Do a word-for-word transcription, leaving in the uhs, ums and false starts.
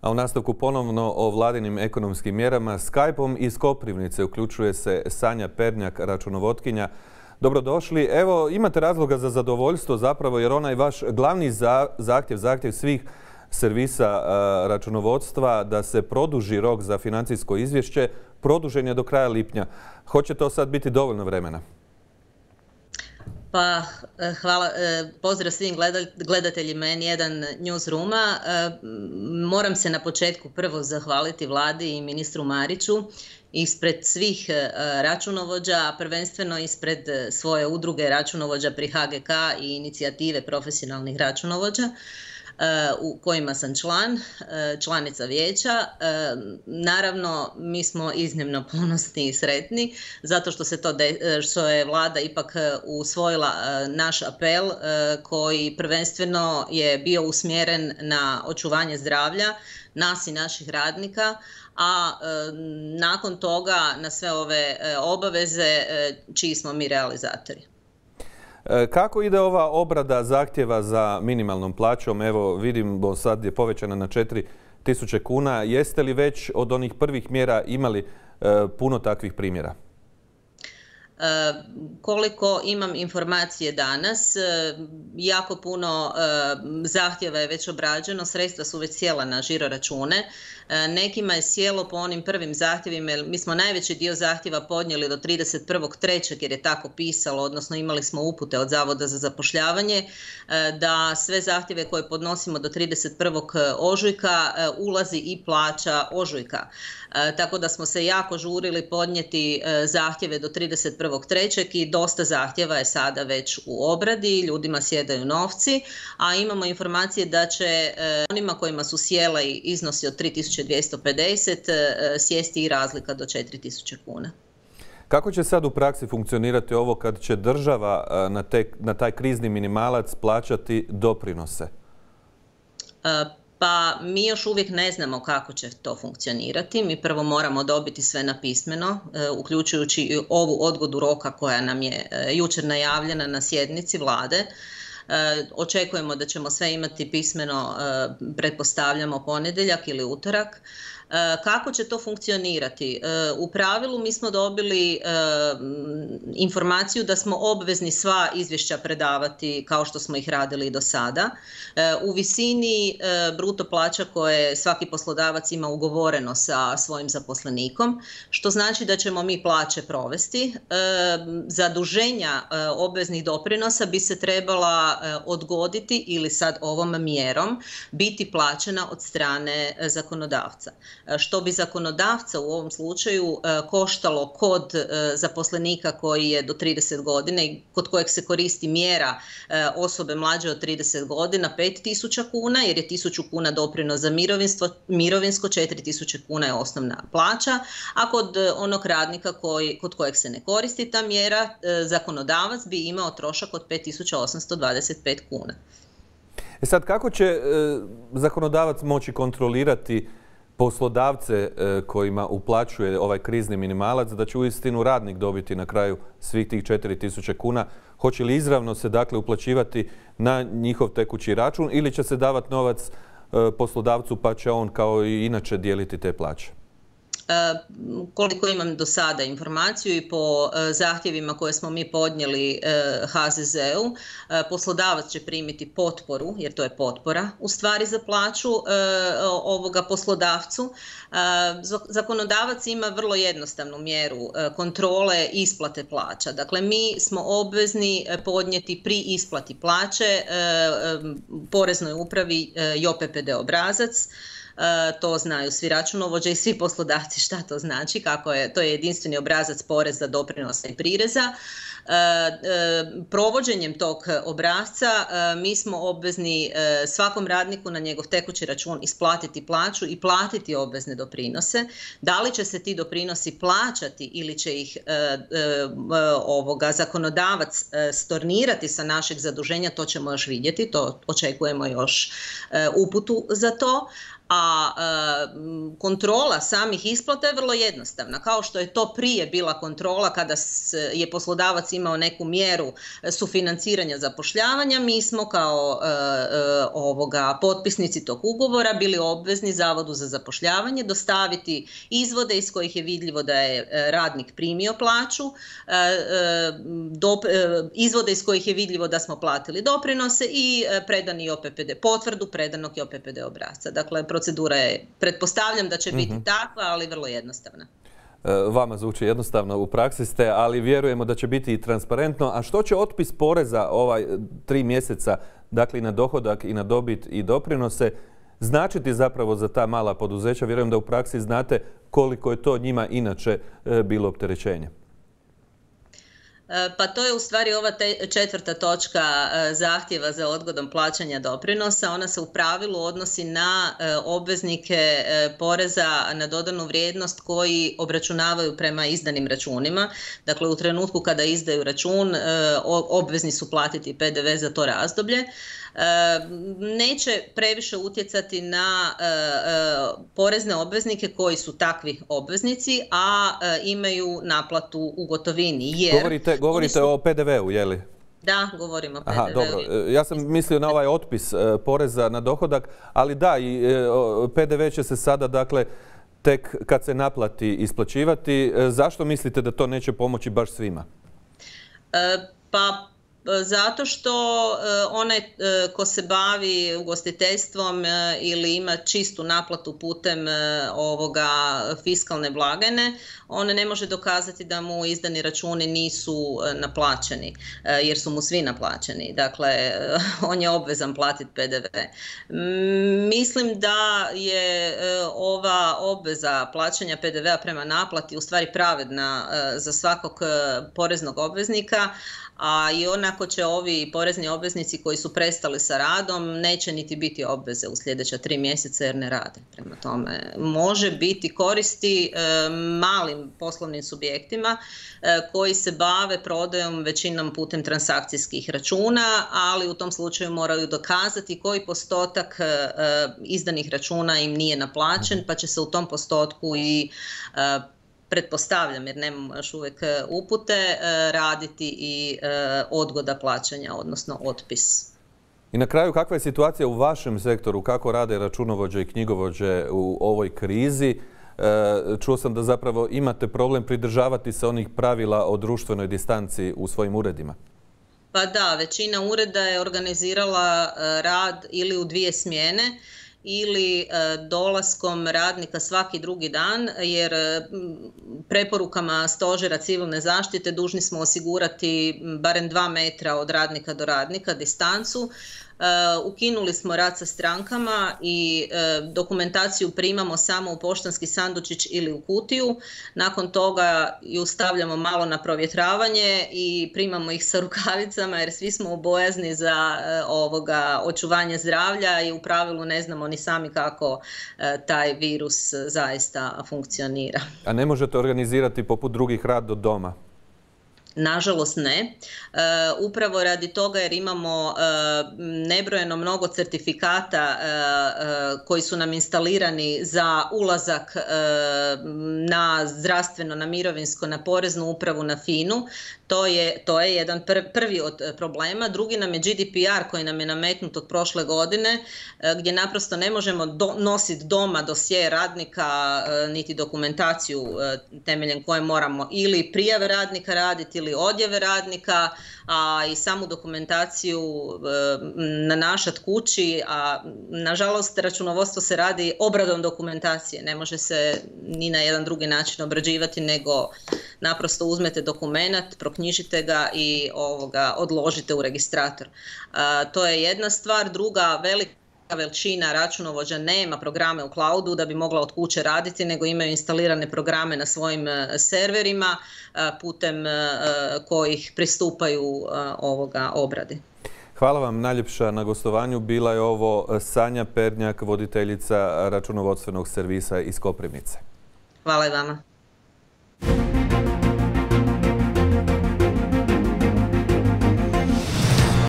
A u nastavku ponovno o vladinim ekonomskim mjerama Skype-om iz Koprivnice uključuje se Sanja Pernjak, računovotkinja. Dobrodošli. Evo, imate razloga za zadovoljstvo zapravo jer onaj vaš glavni zahtjev, zahtjev svih servisa računovodstva da se produži rok za financijsko izvješće, produžen je do kraja lipnja. Hoće to sad biti dovoljno vremena? Pa, hvala, pozdrav svim gledateljima N jedan Newsrooma. Moram se na početku prvo zahvaliti vladi i ministru Mariću ispred svih računovođa, a prvenstveno ispred svoje udruge računovođa pri H G K i inicijative profesionalnih računovođa, u kojima sam član, članica vijeća. Naravno, mi smo iznimno ponosni i sretni zato što se to de, što je vlada ipak usvojila naš apel koji prvenstveno je bio usmjeren na očuvanje zdravlja nas i naših radnika, a nakon toga na sve ove obaveze čiji smo mi realizatori. Kako ide ova obrada zahtjeva za minimalnom plaćom? Evo, vidimo sad je povećana na četiri tisuće kuna. Jeste li već od onih prvih mjera imali puno takvih primjera? Koliko imam informacije danas, jako puno zahtjeva je već obrađeno, sredstva su već sjela na žiro račune. Nekima je sjelo po onim prvim zahtjevima, jer mi smo najveći dio zahtjeva podnijeli do trideset prvog trećeg jer je tako pisalo, odnosno imali smo upute od Zavoda za zapošljavanje da sve zahtjeve koje podnosimo do trideset prvog ožujka ulazi i plaća ožujka. Tako da smo se jako žurili podnijeti zahtjeve do trideset prvog trećeg i dosta zahtjeva je sada već u obradi, ljudima sjedaju novci, a imamo informacije da će onima kojima su sjeli iznosi od tri tisuće dvjesto pedeset sjesti i razlika do četiri tisuće kuna. Kako će sad u praksi funkcionirati ovo kad će država na, te, na taj krizni minimalac plaćati doprinose? Pa mi još uvijek ne znamo kako će to funkcionirati. Mi prvo moramo dobiti sve napismeno, uključujući i ovu odgodu roka koja nam je jučer najavljena na sjednici vlade. Očekujemo da ćemo sve imati pismeno, pretpostavljamo ponedjeljak ili utorak. Kako će to funkcionirati? U pravilu mi smo dobili informaciju da smo obvezni sva izvješća predavati kao što smo ih radili i do sada. U visini bruto plaća koje svaki poslodavac ima ugovoreno sa svojim zaposlenikom, što znači da ćemo mi plaće provesti. Zaduženja obveznih doprinosa bi se trebala odgoditi ili sad ovom mjerom biti plaćena od strane zakonodavca. Što bi zakonodavca u ovom slučaju koštalo kod zaposlenika koji je do trideset godina i kod kojeg se koristi mjera osobe mlađe od trideset godina pet tisuća kuna, jer je tisuću kuna doprinos za mirovinsko, četiri tisuće kuna je osnovna plaća, a kod onog radnika koji, kod kojeg se ne koristi ta mjera, zakonodavac bi imao trošak od pet tisuća osamsto dvadeset pet kuna. E sad, kako će e, zakonodavac moći kontrolirati poslodavce kojima uplaćuje ovaj krizni minimalac da će uistinu radnik dobiti na kraju svih tih četiri tisuće kuna? Hoće li izravno se dakle uplaćivati na njihov tekući račun ili će se davati novac poslodavcu pa će on kao i inače dijeliti te plaće? Koliko imam do sada informaciju i po zahtjevima koje smo mi podnijeli H Z Z-u, poslodavac će primiti potporu, jer to je potpora u stvari za plaću ovoga poslodavcu. Zakonodavac ima vrlo jednostavnu mjeru kontrole isplate plaća. Dakle, mi smo obvezni podnijeti pri isplati plaće Poreznoj upravi J O P P D obrazac. To znaju svi računovođe i svi poslodavci šta to znači, kako je, to je jedinstveni obrazac poreza, doprinosa i prireza. Provođenjem tog obrasca mi smo obvezni svakom radniku na njegov tekući račun isplatiti plaću i platiti obvezne doprinose. Da li će se ti doprinosi plaćati ili će ih ovoga zakonodavac stornirati sa našeg zaduženja, to ćemo još vidjeti, to očekujemo još uputu za to. a kontrola samih isplata je vrlo jednostavna. Kao što je to prije bila kontrola kada je poslodavac imao neku mjeru sufinanciranja zapošljavanja, mi smo kao ovoga potpisnici tog ugovora bili obvezni Zavodu za zapošljavanje dostaviti izvode iz kojih je vidljivo da je radnik primio plaću, izvode iz kojih je vidljivo da smo platili doprinose i predani O P P D, potvrdu predanog i O P P D obrasca. Dakle, procedura je, pretpostavljam da će biti mm-hmm. takva, ali vrlo jednostavna. Vama zvuči jednostavno, u praksi ste, ali vjerujemo da će biti i transparentno. A što će otpis poreza ovaj tri mjeseca, dakle i na dohodak i na dobit i doprinose, značiti zapravo za ta mala poduzeća? Vjerujem da u praksi znate koliko je to njima inače bilo opterećenje. Pa to je u stvari ova te, četvrta točka zahtjeva za odgodom plaćanja doprinosa. Ona se u pravilu odnosi na obveznike poreza na dodanu vrijednost koji obračunavaju prema izdanim računima. Dakle, u trenutku kada izdaju račun, obvezni su platiti P D V za to razdoblje. Neće previše utjecati na porezne obveznike koji su takvi obveznici, a imaju naplatu u gotovini. Jer govorite govorite su... o P D V-u, je li? Da, govorimo o P D V-u. Aha, dobro. Ja sam mislio na ovaj otpis poreza na dohodak, ali da, i P D V će se sada, dakle, tek kad se naplati isplaćivati. Zašto mislite da to neće pomoći baš svima? Pa zato što onaj ko se bavi ugostiteljstvom ili ima čistu naplatu putem ovoga fiskalne blagajne, on ne može dokazati da mu izdani računi nisu naplaćeni, jer su mu svi naplaćeni. Dakle, on je obvezan platiti P D V. Mislim da je ova obveza plaćanja P D V-a prema naplati u stvari pravedna za svakog poreznog obveznika, a i onako će ovi porezni obveznici koji su prestali sa radom neće niti biti obveze u sljedeća tri mjeseca jer ne rade. Prema tome, može biti koristi e, malim poslovnim subjektima e, koji se bave prodajom većinom putem transakcijskih računa, ali u tom slučaju moraju dokazati koji postotak e, izdanih računa im nije naplaćen, pa će se u tom postotku i e, pretpostavljam, jer nemamo još uvijek upute, raditi i odgoda plaćanja, odnosno otpis. I na kraju, kakva je situacija u vašem sektoru? Kako rade računovođe i knjigovođe u ovoj krizi? Čuo sam da zapravo imate problem pridržavati se onih pravila o društvenoj distanci u svojim uredima. Pa da, većina ureda je organizirala rad ili u dvije smjene, ili dolaskom radnika svaki drugi dan, jer preporukama Stožera civilne zaštite dužni smo osigurati barem dva metra od radnika do radnika distancu. Ukinuli smo rad sa strankama i dokumentaciju primamo samo u poštanski sandučić ili u kutiju. Nakon toga ju stavljamo malo na provjetravanje i primamo ih sa rukavicama jer svi smo bojazni za ovoga očuvanje zdravlja i u pravilu ne znamo ni sami kako taj virus zaista funkcionira. A ne možete organizirati poput drugih rad od doma? Nažalost ne. E, upravo radi toga jer imamo e, nebrojeno mnogo certifikata e, e, koji su nam instalirani za ulazak e, na zdravstveno, na mirovinsko, na poreznu upravu, na FINU. To je, to je jedan pr, prvi od problema. Drugi nam je G D P R koji nam je nametnut od prošle godine, e, gdje naprosto ne možemo do, nositi doma dosje radnika, e, niti dokumentaciju e, temeljem koje moramo ili prijave radnika raditi ili odjave radnika, a i samu dokumentaciju e, nanašat kući, a nažalost računovodstvo se radi obradom dokumentacije, ne može se ni na jedan drugi način obrađivati nego naprosto uzmete dokumenat, proknjižite ga i ovoga odložite u registrator. A, to je jedna stvar. Druga, velika većina računovođa nema programe u cloudu da bi mogla od kuće raditi, nego imaju instalirane programe na svojim serverima putem kojih pristupaju ovoga obradi. Hvala vam najljepša na gostovanju. Bila je ovo Sanja Pernjak, voditeljica računovodstvenog servisa iz Koprivnice. Hvala i vama.